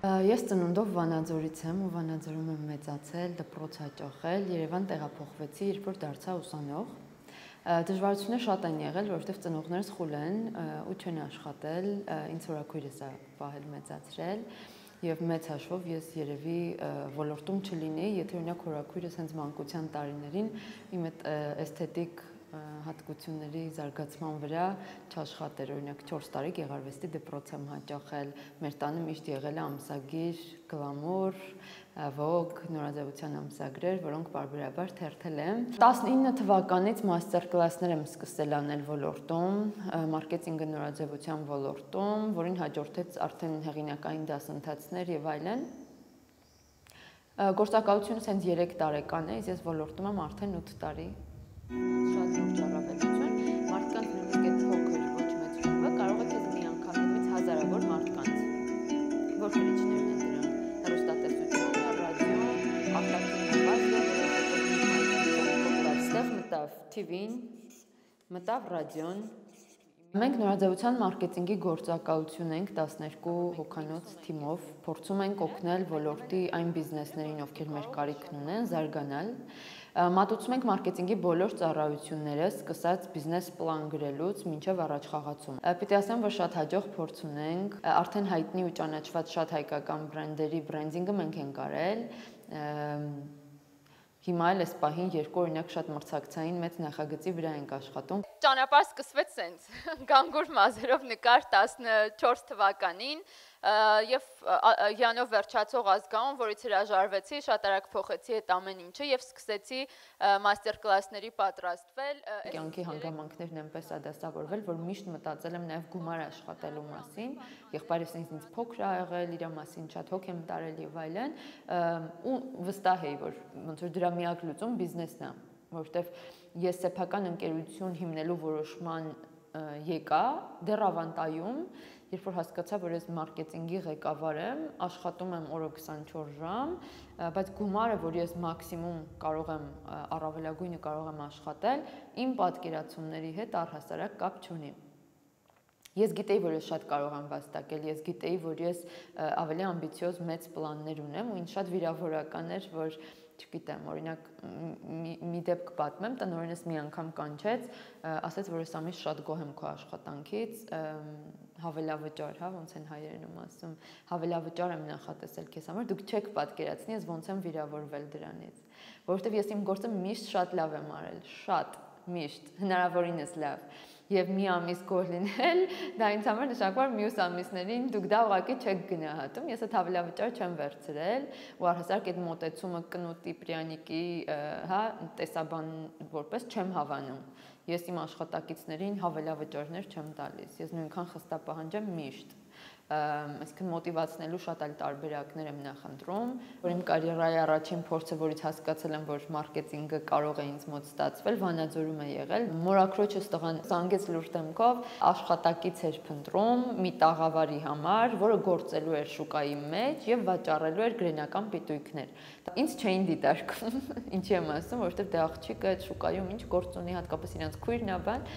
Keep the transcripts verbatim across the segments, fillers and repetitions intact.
Ես ծնունդով Վանաձորից եմ ու Վանաձորում եմ մեծացել, դպրոց հաճախել, Երևան տեղափոխվեցի, երբ որ դարձա ուսանող։ Դժվարություններ շատ են եղել, որովհետև ծնողներս խուլ են ու չեն աշխատել, ինձ հորաքույրս է պահել մեծացրել եւ մեծ հաշվով ես երևի ոլորտում չլինեի, եթե օրինակ հորաքույրս հենց մանկության տարիներին իմ այդ էսթետիկ հատկությունների զարգացման վրա չաշխատեր, օրինակ չորս տարի գեղարվեստի դպրոց եմ հաճախել, մեր տանը միշտ եղել է ամսագիր, գլամուր, Vogue, նորաձևության ամսագրեր, որոնք պարբերաբար թերթել եմ։ տասնինը թվականից մաստեր կլասներ եմ սկսել անել ոլորտում, մարքեթինգը նորաձևության ոլորտում, որին հաջորդեց արդեն հեղինակային դասընթացներ եւ այլն։ Գործակալությունս հենց երեք տարեկան է, ես ոլորտում եմ արդեն ութ տարի։ Շատ լուրջ առավելություն, մարդկանց նույնիսկ այդ փոքր ոչ մեծ շուկա կարող է քեզ մի անգամ հետևից հազարավոր մարդկանց, որ գրիչներն են դրանք, հեռուստատեսությունը, ռադիոն, արտաքին նվազը, այստեղ մտավ թի վին, մտավ ռադիոն։ Մենք նորաձևության մարքեթինգի գործակալություն ենք տասներկու հոգանոց թիմով, փորձում ենք օգնել ոլորտի այն բիզնեսներին, ովքեր մեր կարիքն ունեն, զարգանալ։ Մատուցում ենք մարքեթինգի բոլոր ծառայությունները, սկսած բիզնես պլան գրելուց մինչև առաջխաղացում։ Պիտի ասեմ, որ շատ հաջող փորձ ունենք, արդեն հայտնի ու ճանաչված շատ հայկական բրենդերի բրենդինգը մենք ենք արել։ Հիմա էլ այս պահին երկու օրինակ շատ մրցակցային մեծ նախագծի վրա ենք աշխատում։ Ճանապարհ սկսվեց սենց, գանգուր մազերով նկար տասնչորս թվականին եւ յանով վերջացող ազգանուն, որից հրաժարվեցի, շատ արագ փոխեցի այդ ամեն ինչը եւ սկսեցի մաստեր կլասների պատրաստվել։ Կյանքի հանգամանքներն այնպես ա դասավորվել, որ միշտ մտածել եմ նաեւ գումար աշխատելու մասին, եղբայրս ինձ փոքր ա եղել, իր մասին շատ հոգ եմ տարել եւ այլն, ու վստահ էի, որ ոնց որ դրա միակ լուծում բիզնեսն է, որովհետև ես սեփական ընկերություն հիմնելու որոշման եկա դեռ ավանտայում, երբ որ հասկացա, որ ես մարքեթինգի ղեկավար եմ, աշխատում եմ օրը քսանչորս ժամ, բայց գումարը, որ ես մաքսիմում կարող եմ առավելագույնը կարող եմ աշխատել, իմ պատկերացումների հետ առհասարակ կապ չունի։ Ես գիտեի, որ ես շատ կարող եմ վաստակել, ես գիտեի, որ ես ավելի ամբիցիոզ մեծ պլաններ ունեմ ու ինձ շատ վիրավորական էր, որ չգիտեմ, օրինակ մի դեպք պատմեմ, տնօրենս մի անգամ կանչեց, ասաց, որ ես ամիս շատ գոհ եմ քո աշխատանքից, հավելավճար, հա, ոնց են հայերենում ասում, հավելավճար եմ նախատեսել քեզ համար, դուք չեք պատկերացնի, ես ոնց եմ վիրավորվել դրանից, որովհետև ես իմ գործը միշտ շատ լավ եմ արել, շատ, միշտ, հնարավորինս լավ։ Եվ մի ամիս գոհ լինել, դա ինձ համար նշանակում է մյուս ամիսներին դուք դա ուղղակի չեք գնահատում, ես այդ հավելավճար չեմ վերցրել, ու առհասարակ այդ մոտեցումը Կնուտի Պրյանիկի, հա, տեսաբան որպես չեմ հավանում։ Ես իմ աշխատակիցներին հավելավճարներ չեմ տալիս, ես նույնքան խստապահանջ եմ միշտ։ Այսինքն մոտիվացնելու շատ այլ տարբերակներ եմ նախընտրում, որ իմ կարիերայի առաջին փորձը, որից հասկացել եմ, որ մարքեթինգը կարող է ինձ մոտ ստացվել, Վանաձորում է եղել։ Մորաքրոջս տղան զանգեց լուրջ դեմքով, աշխատակից էր փնտրում մի տաղավարի համար, որը գործելու էր շուկայի մեջ եւ վաճառելու էր գրենական պիտույքներ։ Ինձ չէին դիտարկում, ինչի եմ ասում, որովհետեւ դե աղջիկը այդ շուկայում ինչ գործ ունի, հատկապես իրենց քույրն է, բան։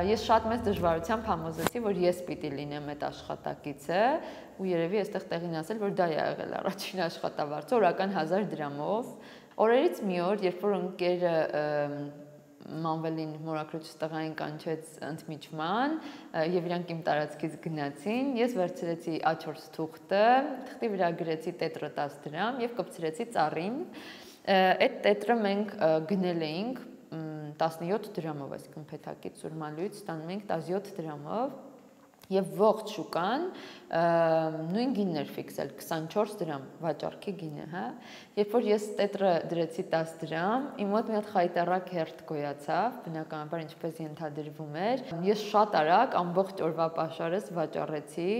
Ես շատ մեծ դժվարությամբ համոզեցի, որ ես պիտի լինեմ այդ աշխատակիցը, ու երևի այստեղ տեղին ասել, որ դա է եղել առաջին աշխատավարձը, օրական հազար դրամով։ Օրերից մի օր, երբ որ ընկերը Մանվելին մորաքրոջս տղային կանչեց ընդմիջման եւ իրանք իմ տարածքից գնացին, ես վերցրեցի ա չորս թուղթը, թղթի վրա գրեցի տետրը տասը դրամ եւ կպցրեցի ծառին։ Այդ տետրը մենք գնել էինք տասնյոթ դրամով, այսինքն փեթակից սուրմալույց ստանում ենք տասնյոթ դրամով եւ ողջ շուկան նույն գինն էր ֆիքսել քսանչորս դրամ վաճառքի գինը, հա։ Երբ որ ես տետրը դրեցի տասը դրամ, իմ մոտ մի հատ խայտարակ հերթ գոյացավ, բնականաբար ինչպես ենթադրվում էր։ Ես շատ արագ ամբողջ օրվա պաշարս վաճառեցի։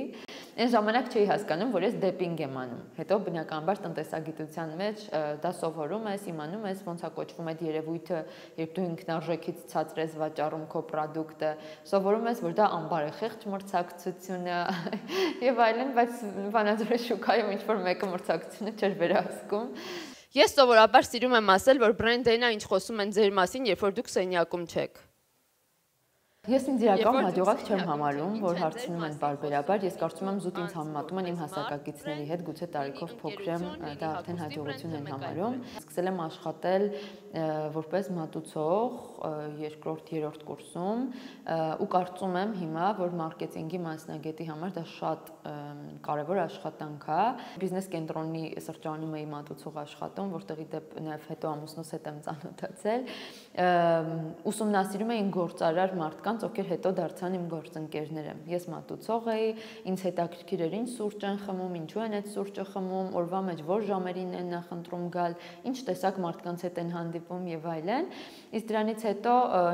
Այն ժամանակ չէի հասկանում, որ ես դեպինգ եմ անում։ Հետո բնականաբար տնտեսագիտության մեջ դա սովորում ես, իմանում ես, ոնց է կոչվում այդ երևույթը, երբ դու ինքնարժեքից ցածր ես վաճառում քո պրոդուկտը, սովորում ես, որ դա անբարեխիղճ մրցակցություն է եւ այլն, բայց Վանաձորի շուկայում ինչ որ մեկը մրցակցությունը չէր վերահսկում։ Ես սովորաբար սիրում եմ ասել, որ բրենդերն այն ինչ խոսում են ձեր մասին, երբ որ դուք սենյակում չեք։ Ես ինձ իրական հաջողակ չեմ համարում, որ հարցնում են բարբերաբար, ես կարծում եմ զուտ ինձ համեմատում են իմ հասակակիցների հետ, գուցե տարիքով փոքր եմ, դա արդեն հաջողություն են համարում։ Սկսել եմ աշխատել որպես մատուցող երկրորդ, երրորդ կուրսում ու կարծում եմ հիմա, որ մարքեթինգի մասնագետի համար դա շատ կարևոր աշխատանք է։ Բիզնես կենտրոնի սրճարանում էի մատուցող աշխատում, որտեղի դեպ նաև հետո ամուսնուս հետ եմ ծանոթացել։ Ուսումնասիրում էին գործարար մարդկանց, ովքեր հետո դարձան իմ գործընկերները։ Ես մատուցող էի, ինձ հետաքրքիր էր ինչ սուրճ են խմում, ինչու են այդ սուրճը խմում, օրվա մեջ որ ժամերին են նախընտրում գալ, ինչ տեսակ մարդկանց հետ են հանդիպում եւ այլն։ Իսկ դրանից հետո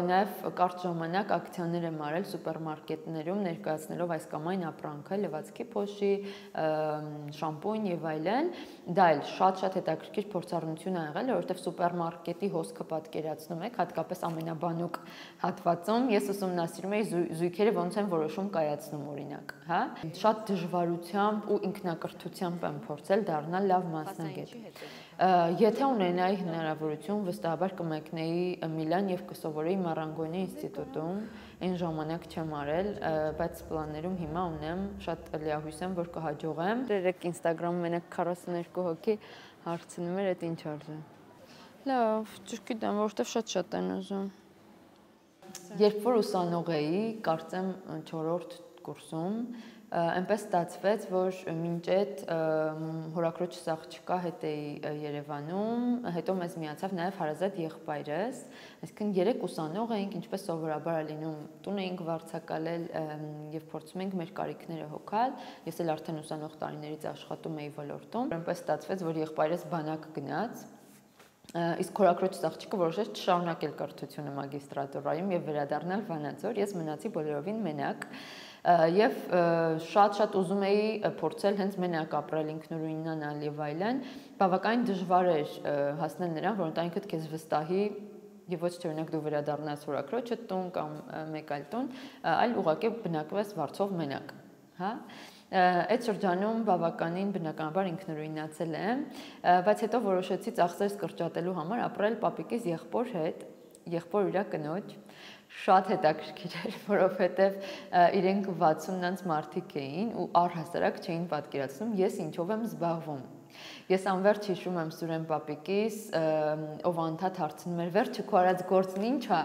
նաև կարճ ժամանակ ակցիաներ եմ արել սուպերմարկետներում, ներկայացնելով այս կամ այն ապրանքը, լվացքի փոշի, շամպույն եւ այլն։ Դա էլ շատ-շատ հետաքրքիր փորձառություն ա եղել, որովհետեւ սուպերմարկետի հոսքը պատկերացնում եք, հատկապես ամենաբանուկ հատվածում ես ուսումնասիրում էի զույգերը ոնց են որոշում կայացնում օրինակ, հա։ Շատ դժվարությամբ ու ինքնակրթությամբ եմ փորձել դառնալ լավ մասնագետ։ Եթե ունենայի հնարավորություն, վստահաբար կմեկնեի Միլան եւ կսովորեի Մարանգոնի ինստիտուտում, այն ժամանակ չեմ արել, բայց պլաններում հիմա ունեմ, շատ լիահույս եմ, որ կհաջողեմ։ Երեք Instagram-ում մենակ քառասուններկու հոգի հարցնում էր, այդ ինչ արժե։ Լավ, չգիտեմ, որովհետեւ շատ-շատ են ուզում։ Երբ որ ուսանող էի, կարծեմ չորրորդ կուրսում, այնպես ստացվեց, որ մինչ այդ հորաքրոջս աղջկա հետ էի Երևանում, հետո մեզ միացավ նաև հարազատ եղբայրս, այսինքն երեք ուսանող էինք, ինչպես սովորաբար է լինում, տուն էինք վարձակալել եւ փորձում էինք մեր կարիքները հոգալ, ես էլ արդեն ուսանող տարիներից աշխատում էի ոլորտում, այնպես ստացվեց, որ եղբայրս բանակ գնաց, իսկ հորաքրոջս աղջիկը որոշեց չշարունակել կրթությունը մագիստրատուրայում եւ վերադառնալ Վանաձոր, ես մնացի բոլորովին մենակ եւ շատ-շատ ուզում էի փորձել հենց մենակ ապրել, ինքնուրույնանալ եւ այլն, բավականին դժվար էր հասնել նրան, որ ընտանիքդ քեզ վստահի եւ ոչ թե օրինակ դու վերադառնաս հորաքրոջդ տուն կամ մեկ այլ տուն, այլ ուղղակի բնակվես վարձով մենակ, հա։ Այդ շրջանում բավականին բնականաբար ինքնուրույնացել եմ, բայց հետո որոշեցի ծախսերս կրճատելու համար ապրել պապիկիս եղբոր հետ, եղբոր իր կնոջ, շատ հետաքրքիր էր, որովհետև իրենք վաթսուննանց մարդիկ էին ու առհասարակ չէին պատկերացնում ես ինչով եմ զբաղվում։ Ես անverջ հիշում եմ Սուրեն պապիկիս, ով անդադ հարցնում էր, վերջը քո արած գործն ինչ է։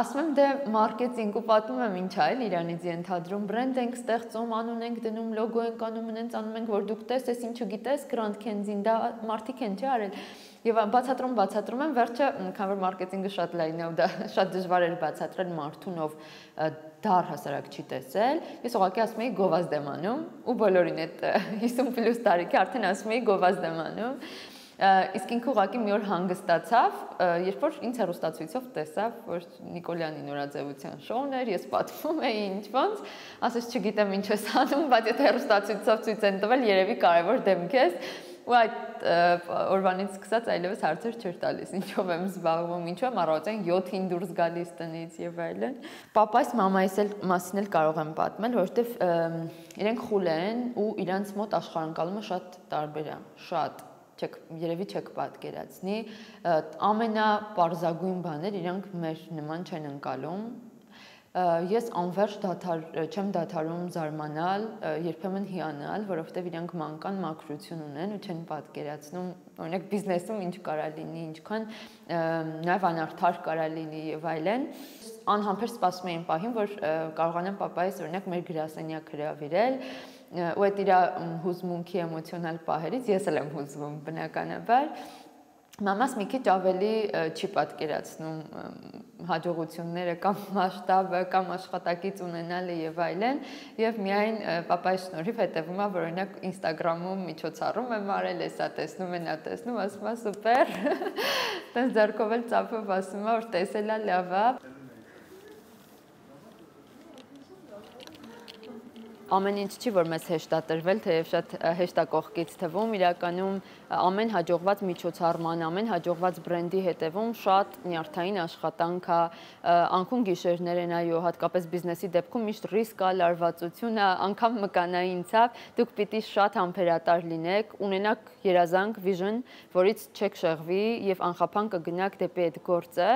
Ասում եմ դե մարքեթինգ ու պատմում եմ ինչ է էլ իրանից ենթադրում, բրենդ ենք ստեղծում, անուն ենք դնում, լոգո ենք անում, ունենց անում ենք, որ դուք տեսես, ինչու գիտես, Grand Candy-ին դա մարդիկ են չէ արել։ Եվ բացատրում, բացատրում եմ, վերջը, քան որ մարքեթինգը շատ լայն է ու դա շատ դժվար էր բացատրել մարդուն, ով դա առհասարակ չի տեսել, ես ուղղակի ասում էի գովազդ եմ անում ու բոլորին այդ հիսուն պլյուս տարիքի արդեն ասում էի գովազդ եմ անում, իսկ ինքը ուղղակի մի օր հանգստացավ, երբ որ ինձ հեռուստացույցով տեսավ, որ Նիկոլյանի նորաձևության շոուն էր, ես պատմում էի ինչ-ոնց, ասես չգիտեմ ինչ ես անում, բայց եթե հեռուստացույցով ցույց են տվել, երևի կարևոր դեմք ես, ու այդ օրվանից սկսած այլևս հարցեր չէր տալիս, ինչով եմ զբաղվում, ինչու եմ առավոտյան յոթին դուրս գալիս տնից եւ այլն։ Պապայիս, մամայիս էլ մասին էլ կարող եմ պատմել, որովհետեւ իրենք խուլ են ու իրանց մոտ աշխարհընկալումը շատ տարբեր է, շատ չեք երևի չեք պատկերացնի, ամենապարզագույն բաներ իրանք մեր նման չեն ընկալում։ Ես անverջ դադար չեմ դադարում զարմանալ, երբեմն հիանալ, որովհետև իրանք մանկան մաքրություն ունեն ու չեն պատկերացնում, օրինակ բիզնեսում ինչ կարա լինի, ինչքան նաև անարդար կարա լինի եւ այլն։ Անհամբեր սպասում էին պահին, որ կարողանամ պապայիս օրինակ մեր գրասենյակ հրավիրել, ու այդ իր հուզմունքի էմոցիոնալ պահերից ես էլ եմ հուզվում բնականաբար։ Մամաս մի քիչ ավելի չի պատկերացնում հաջողությունները կամ մասշտաբը կամ աշխատակից ունենալը եւ այլն եւ միայն պապայի շնորհիվ հետեւում է որ օրինակ Instagram-ում միջոցառում եմ արել, էսա տեսնում են, ա տեսնում, ասում է սուպեր։ Տենց ձեռքով էլ ծափով ասում է որ տեսելա լավ է։ Ամեն ինչ չի, որ մեզ հեշտ է տրվել, թեև շատ հեշտ է կողքից թվում, իրականում ամեն հաջողված միջոցառման, ամեն հաջողված բրենդի հետևում շատ նյարդային աշխատանք է, անկուն գիշերներ են, այո, հատկապես բիզնեսի դեպքում միշտ ռիսկ է, լարվածություն է, անգամ մկանային ցավ, դուք պիտի շատ համբերատար լինեք, ունենաք երազանք, vision, որից չեք շեղվի եւ անխափան կգնաք դեպի այդ գործը։